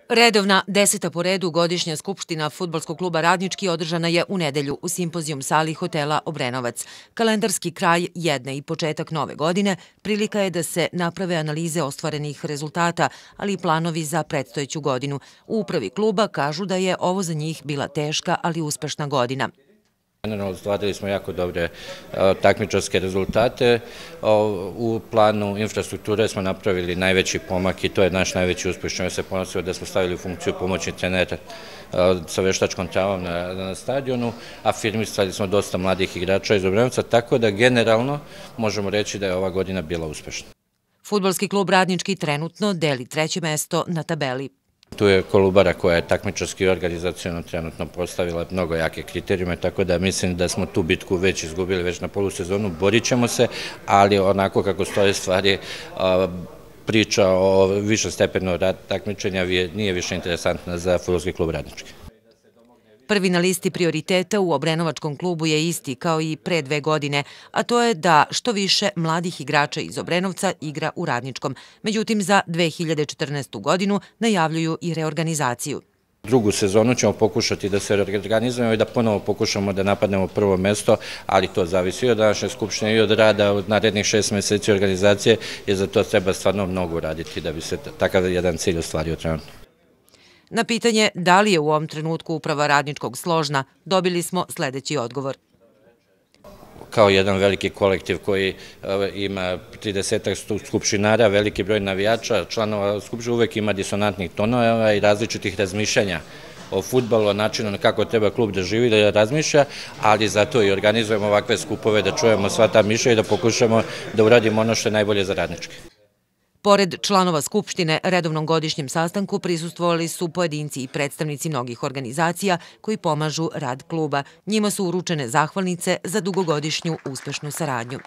Redovna 10. po redu godišnja skupština Fudbalskog kluba Radnički održana je u nedelju u simpozijum sali hotela Obrenovac. Kalendarski kraj jedne i početak nove godine prilika je da se naprave analize ostvarenih rezultata, ali i planovi za predstojeću godinu. U upravi kluba kažu da je ovo za njih bila teška, ali uspešna godina. Generalno, ostvarili smo jako dobre takmičarske rezultate. U planu infrastrukture smo napravili najveći pomak i to je naš najveći uspjeh, što se ponosio da smo stavili u funkciju pomoćni trenera sa veštačkom travom na stadionu, afirmisali smo dosta mladih igrača iz Obrenovca, tako da generalno možemo reći da je ova godina bila uspešna. Fudbalski klub Radnički trenutno deli treće mesto na tabeli. Tu je Kolubara koja je takmičarski i organizacijono trenutno postavila mnogo jake kriterijume, tako da mislim da smo tu bitku već izgubili već na polusezonu. Borit ćemo se, ali onako kako stoje stvari, priča o višem stepenu takmičenja nije više interesantna za Fudbalski klub Radnički. Prvi na listi prioriteta u Obrenovačkom klubu je isti kao i pre 2 godine, a to je da što više mladih igrača iz Obrenovca igra u Radničkom. Međutim, za 2014. godinu najavljuju i reorganizaciju. Drugu sezonu ćemo pokušati da se reorganizujemo i da ponovo pokušamo da napadnemo prvo mesto, ali to zavisi od današnje skupštine i od rada od narednih 6 meseci organizacije, jer za to treba stvarno mnogo uraditi da bi se takav jedan cilj ostvario trenutno. Na pitanje da li je u ovom trenutku uprava Radničkog složna, dobili smo sledeći odgovor. Kao jedan veliki kolektiv koji ima 30 skupštinara, veliki broj navijača, članova skupštine, uvek ima disonantnih tonova i različitih razmišljanja o fudbalu, o načinu kako treba klub da živi, da razmišlja, ali zato i organizujemo ovakve skupove da čujemo sva ta mišljenja i da pokušamo da uradimo ono što je najbolje za Radnički. Pored članova Skupštine, redovnom godišnjem sastanku prisustvovali su pojedinci i predstavnici mnogih organizacija koji pomažu rad kluba. Njima su uručene zahvalnice za dugogodišnju uspešnu saradnju.